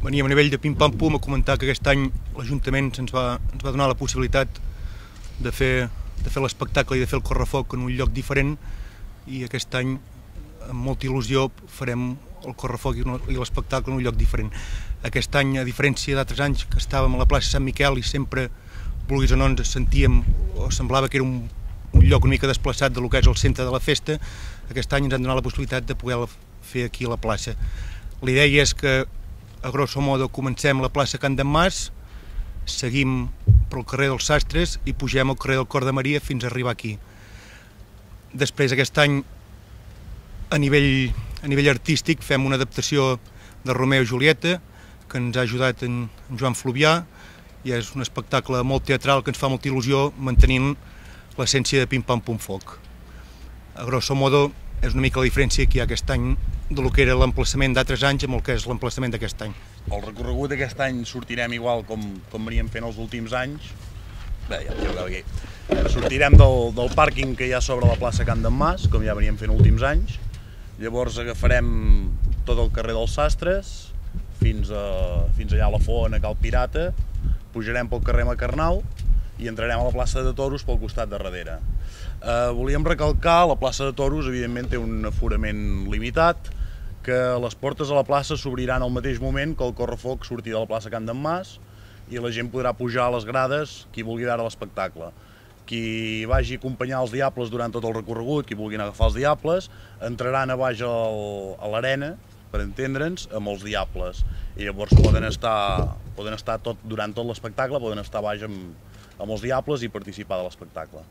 Veníem a nivell de pim-pam-pum a comentar que aquest any l'Ajuntament ens va donar la possibilitat de fer l'espectacle i de fer el correfoc en un lloc diferent, i aquest any amb molta il·lusió farem el correfoc i l'espectacle en un lloc diferent. Aquest any, a diferència d'altres anys que estàvem a la plaça Sant Miquel i sempre, vulguis o no, ens sentíem o semblava que era un lloc una mica desplaçat del que és el centre de la festa, aquest any ens han donat la possibilitat de poder fer aquí a la plaça. La idea és que, a grosso modo, comencem la plaça Can d'en Mas, seguim pel carrer dels Sastres i pugem al carrer del Cor de Maria fins a arribar aquí. Després, aquest any, a nivell artístic, fem una adaptació de Romeo i Julieta, que ens ha ajudat en Joan Fluvià, i és un espectacle molt teatral que ens fa molta il·lusió, mantenint l'essència de pim-pam-pum-foc. A grosso modo, és una mica la diferència que hi ha aquest any del que era l'emplaçament d'altres anys amb el que és l'emplaçament d'aquest any. El recorregut d'aquest any sortirem igual com veníem fent els últims anys. Bé, ja ho veu aquí. Sortirem del pàrquing que hi ha sobre la plaça Can d'en Mas, com ja veníem fent els últims anys. Llavors agafarem tot el carrer dels Sastres, fins allà a la Font, a Cal Pirata, pujarem pel carrer Macarnau i entrarem a la plaça de Toros pel costat de darrere. Volíem recalcar, la plaça de Toros evidentment té un aforament limitat, que les portes a la plaça s'obriran al mateix moment que el correfoc surti de la plaça Can d'en Mas i la gent podrà pujar a les grades, qui vulgui veure l'espectacle. Qui vagi a acompanyar els Diables durant tot el recorregut, qui vulguin agafar els Diables, entraran a baix a l'arena, per entendre'ns, amb els Diables. I llavors poden estar durant tot l'espectacle, poden estar a baix amb els Diables i participar de l'espectacle.